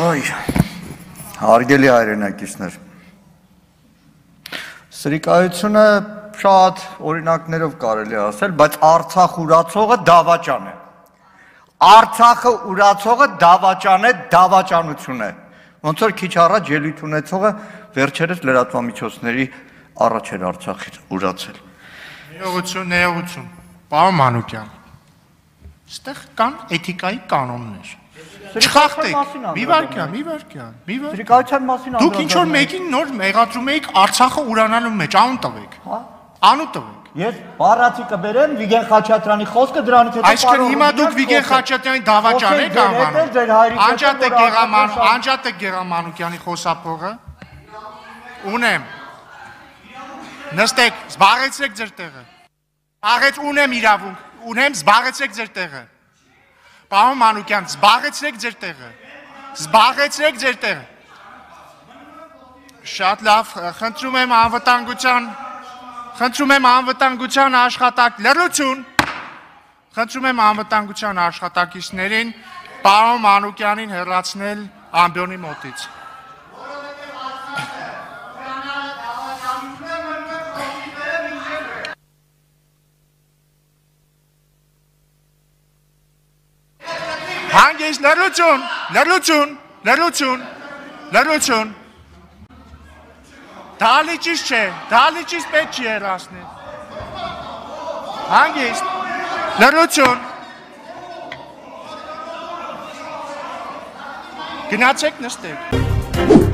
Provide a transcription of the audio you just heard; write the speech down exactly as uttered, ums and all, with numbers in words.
Այ, հարգելի հայրենակիցներ, սրիկայությունը շատ օրինակներով կարելի է ասել, բայց Արցախ ուրացողը դավաճան է, Արցախը ուրացողը դավաճան է, դավաճանություն է, ոնց որ քիչ առաջ ելույթ ունեցողը վերջերս լրատվամիջոցների առաջ էր Արցախից ուրացել։ Ներողություն, ներողություն, պարոն Մանուկյան, այստեղ կան էթիկայի կանոններ։ Չխախտեք, մի վարքյան, մի վարքյան, մի վարքյան։ Սրիկայության մասին Դուք ինչ-որ մեկին նոր մեղադրում եք Արցախը ուրանալու մեջ, անուն տվեք։ Անուն տվեք։ Ես բառացի կբերեմ Վիգեն Խաչատրյանի խոսքը դրանից հետո Այսինքն հիմա դուք Վիգեն Խաչատրյանի դավաճան եք անվանում։ Անջատեք Գեղաման, անջատեք Գեղամանուկյանի խոսափողը։ Ունեմ։ Նստեք, զբաղեցրեք ձեր տեղը։ Աղեց ունեմ իրավունք, ունեմ, զբաղեցրեք ձեր տեղը։ Պարոն Մանուկյան, զբաղեցրեք ձեր տեղը, զբաղեցրեք ձեր տեղը։ Շատ լավ, խնդրում եմ անվտանգության, խնդրում եմ անվտանգության աշխատակ, լռություն, խնդրում եմ անվտանգության աշխատակիցներին պարոն Մանուկյանին հեռացնել ամբիոնի մոտից։ Հանգիստ, լռություն, լռություն, լռություն, լռություն։ Դալիճից չէ, դալիճից պետք չի հեռացնել։ Հանգիստ, լռություն։ Գնացեք նստեք։